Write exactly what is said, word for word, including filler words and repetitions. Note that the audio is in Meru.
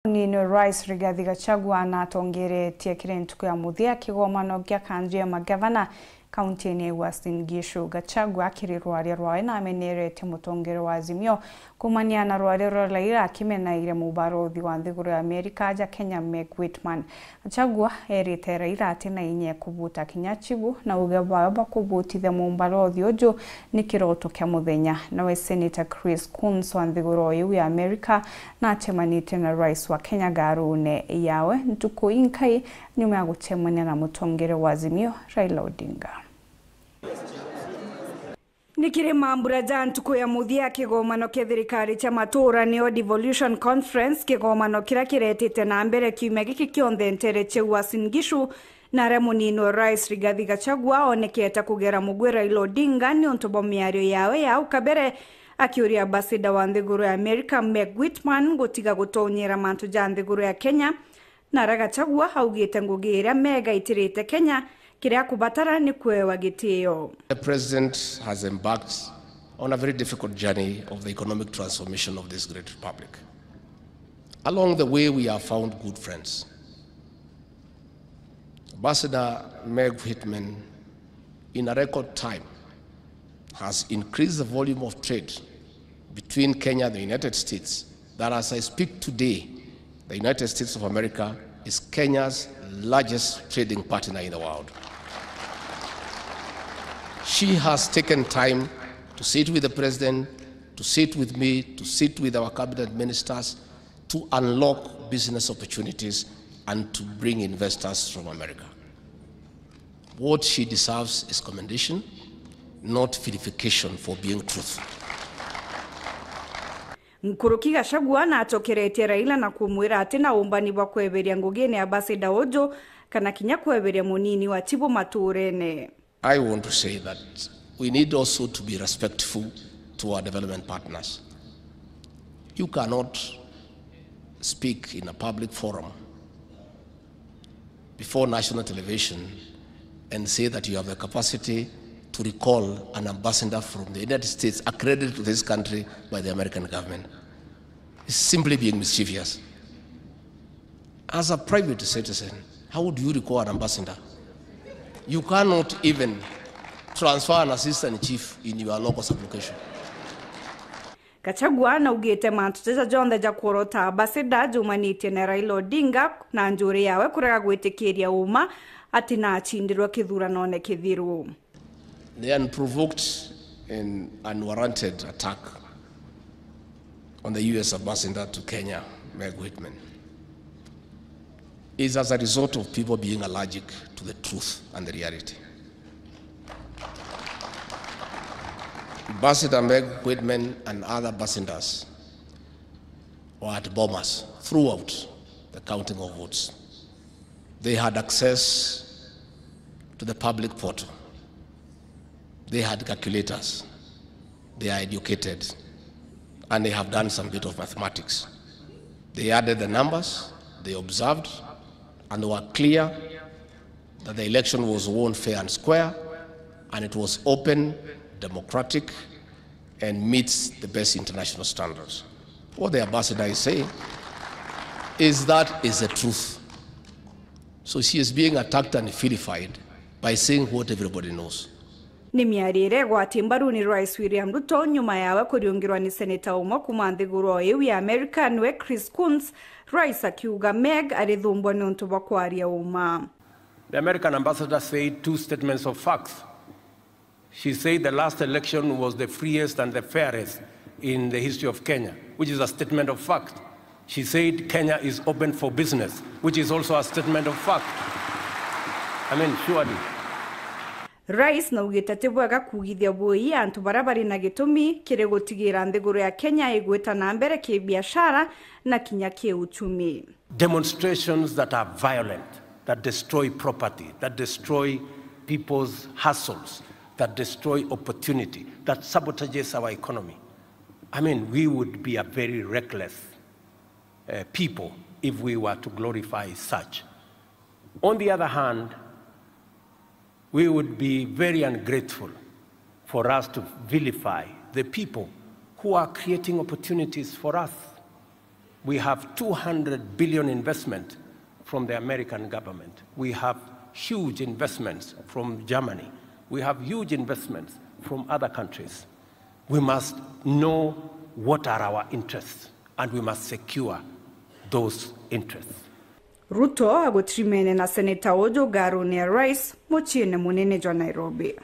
Munini wa Rais Rigathi Gachagua natongeretie kiri ntuku ya muthia kigomano kia kanju ya magavana kaunti-ini ya Uasin Gishu. Gachagua kiri rwaria rwawe namenerete mutongere wa Azimio kumania na rwaria rwa Raila, akimenaire mubarothi wa nthiguru ya Amerika aja Kenya, Meg Whitman. Gachagua erite Raila ati na inya kubuta kinya chibu, na uge bwawe bwa kubutithia mubarothi uju ni kiroto kia muthenya. Nawe Senator Chris Coons wa nthiguru iu ya Amerika nacemanitie na rais wa Kenya ngarune yawe ntuku inkai nyuma ya gucemania na mutongere wa Azimio, Raila Odinga. Ni kiri mambura ja ntuku ya muthia kigomano kia thirikari cha matura, nio Devolution Conference, kigomano kiria kiretite na mbere kiumia giki kionthe ntere cia Uasin Gishu, na aria munini wa rais Rigathi Gachagua onekete kugera mugwi Raila Odinga niuntu bwa miario yawe ya au kabere, akiuria ambassador wa nthiguru ya Amerika Meg Whitman gutiga gutonyera mantu ja nthiguru ya Kenya. Na aria Gachagua augite ngugi iria Meg aitirite Kenya, kiria akubatara ni kuewa gitio. The president has embarked on a very difficult journey of the economic transformation of this great republic. Along the way, we have found good friends. Ambassador Meg Whitman, in a record time, has increased the volume of trade between Kenya and the United States, that as I speak today, the United States of America is Kenya's largest trading partner in the world. She has taken time to sit with the president, to sit with me, to sit with our cabinet ministers, to unlock business opportunities and to bring investors from America. What she deserves is commendation, not vilification for being truth. Nkuruki Gachagua nacokeretie Raila na kumwira ati na umbani bwa kweberia ngugine ya ambassador uju kana kinya kweberia munini wa chibu maturene. I want to say that we need also to be respectful to our development partners. You cannot speak in a public forum before national television and say that you have the capacity to recall an ambassador from the United States accredited to this country by the American government. It's simply being mischievous. As a private citizen, how do you recall an ambassador? You cannot even transfer an assistant chief in your local sub-location. Gachagua naugite mantu jaja jonthe ja kworota ambassador jumanitie na Raila Odinga na njuri yawe kurega gwitikiria uma ati nacindirwe kithuranone kithiru. The unprovoked and unwarranted attack on the U S ambassador to Kenya, Meg Whitman, is as a result of people being allergic to the truth and the reality. Ambassador Meg Whitman and other ambassadors were at Bomas throughout the counting of votes. They had access to the public portal. They had calculators. They are educated. And they have done some bit of mathematics. They added the numbers, they observed, and they were clear that the election was won fair and square, and it was open, democratic, and meets the best international standards. What the ambassador is saying is that is the truth. So she is being attacked and vilified by saying what everybody knows. Ni miario iria igwati mbaru ni Rais William Ruto nyuma yawe kuriungirwa ni seneta umwe kuma nthiguru o iu ya America, niwe Chris Coons, Rais akiuga Meg arithumbwa niuntu bwa kwaria uma. The American ambassador said two statements of facts. She said the last election was the freest and the fairest in the history of Kenya, which is a statement of fact. She said Kenya is open for business, which is also a statement of fact. I mean, surely. Rais naugite ti bwega kuugithia bui antu baria bari na gitumi kiri gutigira nthiguru ya Kenya igwita na mbere kibiashara na kinya kiuchumi. Demonstrations that are violent, that destroy property, that destroy people's hustles, that destroy opportunity, that sabotages our economy. I mean, we would be a very reckless, uh, people if we were to glorify such. On the other hand, we would be very ungrateful for us to vilify the people who are creating opportunities for us. We have two hundred billion investment from the American government. We have huge investments from Germany. We have huge investments from other countries. We must know what are our interests and we must secure those interests. Ruto agutirimene na seneta uju ngaruni ya rais muciine munene jwa Nairobi.